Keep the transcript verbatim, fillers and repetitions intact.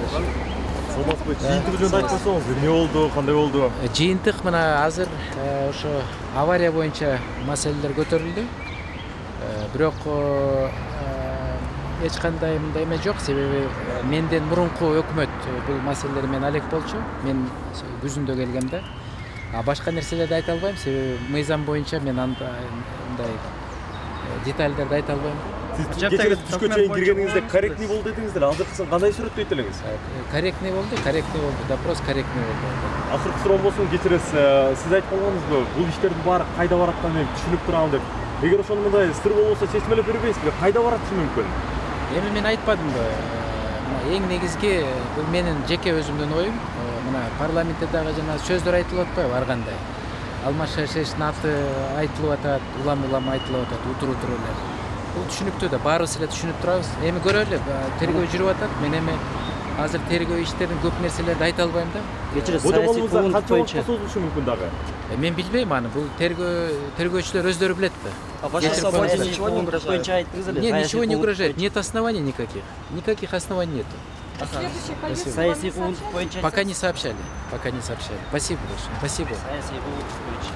Саламатсызбы? Жыйынтык жөнүндө айтып койсоңуз, эмне болду, кандай болду? Жыйынтык мына азыр ошо авария боюнча маселелер көтөрүлдү. Бирок эч кандай мындай эме жок, себеби менден мурунку өкмөт бул маселелер менен алек болчу. Мен күзүндө келгемде. А башка нерселерди айта албайм, себеби мыйзам боюнча мен андай детальдерди айта албайм. Сиз кечээ түшкө чейин киргениңизде корректный болду дедиңиздер. Азыркысын кандай сүрөттөйт элеңиз? Корректный болду, корректный болду. Допрос корректный болду. Акыркы суроом болсун, кечиресиз. Сиз айтып калганыңызбы, бул иштердин баары кайда барат экенин мен түшүнүп турам деп. Эгер ошону мындай сыр болбосо чечмелеп бербейсизби? Кайда баратышы мүмкүн? Эми мен айтпадымбы? Мына эң негизги бул менин жеке өзүмдүн оюм. Мына парламентте дагы жана сөздөр айтылып атпайбы ар кандай. Алмаз Шаршеевичтин аты айтылып атат, улам-улам айтылып атат, утур-утур эле. Бул түшүнүктүү да, баарыбыз эле түшүнүп турабыз. Эми көрөлү, тергөө жүрүп атат. Мен эми азыр тергөө иштерин көп нерселерди айта албайм да. Кечиресиз, саясий фонд боюнча созулушу мүмкүн дагы. Мен билбейм аны, бул тергөө тергөөчүлөр өздөрү билет да. Ничего не угрожает. Нет, ничего не угрожает. Нет оснований никаких. Никаких оснований нету. Саясий фонд боюнча пока не сообщали. Пока не сообщали. Спасибо большое. Спасибо. Саясий фонд боюнча.